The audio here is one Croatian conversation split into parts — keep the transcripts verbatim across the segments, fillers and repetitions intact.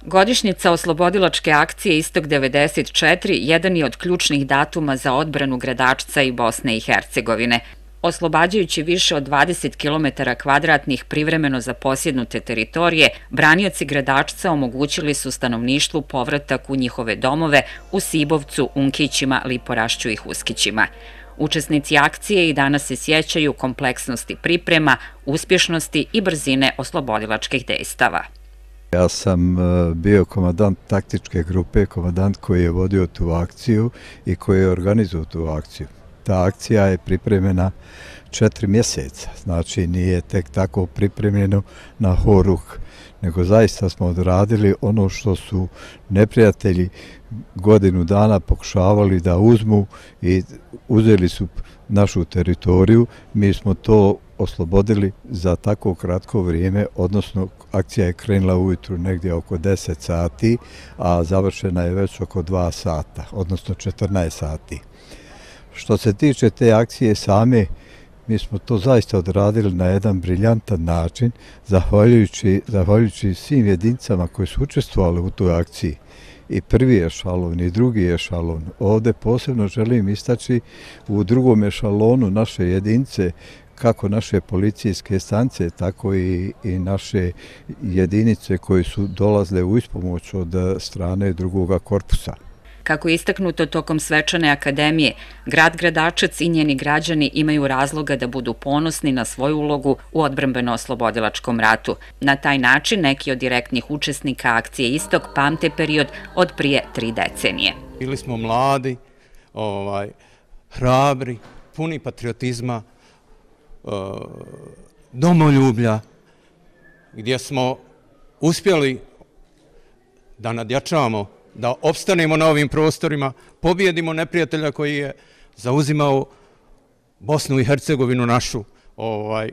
Godišnjica oslobodilačke akcije Istok devedeset četiri jedan je od ključnih datuma za odbranu Gradačca i Bosne i Hercegovine. Oslobađajući više od dvadeset kilometara kvadratnih privremeno zaposjednute teritorije, branioci Gradačca omogućili su stanovništvu povratak u njihove domove u Sibovcu, Unkićima, Liporašću i Huskićima. Učesnici akcije i danas se sjećaju kompleksnosti priprema, uspješnosti i brzine oslobodilačkih dejstava. Ja sam bio komandant taktičke grupe, komandant koji je vodio tu akciju i koji je organizovao tu akciju. Ta akcija je pripremljena četiri mjeseca, znači nije tek tako pripremljeno na horuk, nego zaista smo odradili ono što su neprijatelji godinu dana pokušavali da uzmu i uzeli su našu teritoriju. Mi smo to oslobodili za tako kratko vrijeme, odnosno akcija je krenula ujutru negdje oko deset sati, a završena je već oko dva sata, odnosno četrnaest sati. Što se tiče te akcije same, mi smo to zaista odradili na jedan briljantan način, zahvaljujući, zahvaljujući svim jedinicama koji su učestvovali u toj akciji. I prvi ešalon i drugi ešalon. Ovdje posebno želim istaći u drugom ešalonu naše jedinice, kako naše policijske stanice, tako i, i naše jedinice koje su dolazile u ispomoć od strane drugoga korpusa. Kako je istaknuto tokom svečane akademije, grad Gradačac i njeni građani imaju razloga da budu ponosni na svoju ulogu u odbrambeno-oslobodilačkom ratu. Na taj način neki od direktnih učesnika akcije Istok pamte period od prije tri decenije. Bili smo mladi, ovaj, hrabri, puni patriotizma, domoljublja, gdje smo uspjeli da nadjačamo, da opstanemo na ovim prostorima, pobjedimo neprijatelja koji je zauzimao Bosnu i Hercegovinu našu. Ovaj,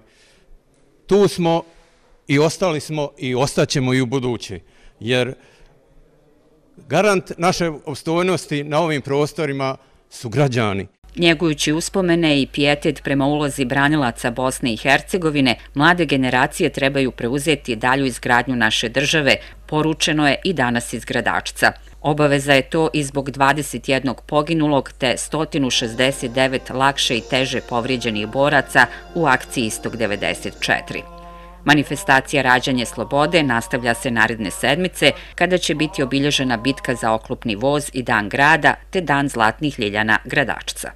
tu smo i ostali smo i ostaćemo i u buduće, jer garant naše opstojnosti na ovim prostorima su građani. Njegujući uspomene i pijetet prema ulozi branilaca Bosne i Hercegovine, mlade generacije trebaju preuzeti dalju izgradnju naše države, poručeno je i danas iz Gradačca. Obaveza je to i zbog dvadeset jednog poginulog te sto šezdeset devet lakše i teže povrijeđenih boraca u akciji Istok devedeset četiri. Manifestacija Rađanje slobode nastavlja se naredne sedmice, kada će biti obilježena bitka za oklopni voz i Dan grada te Dan zlatnih ljiljana Gradačca.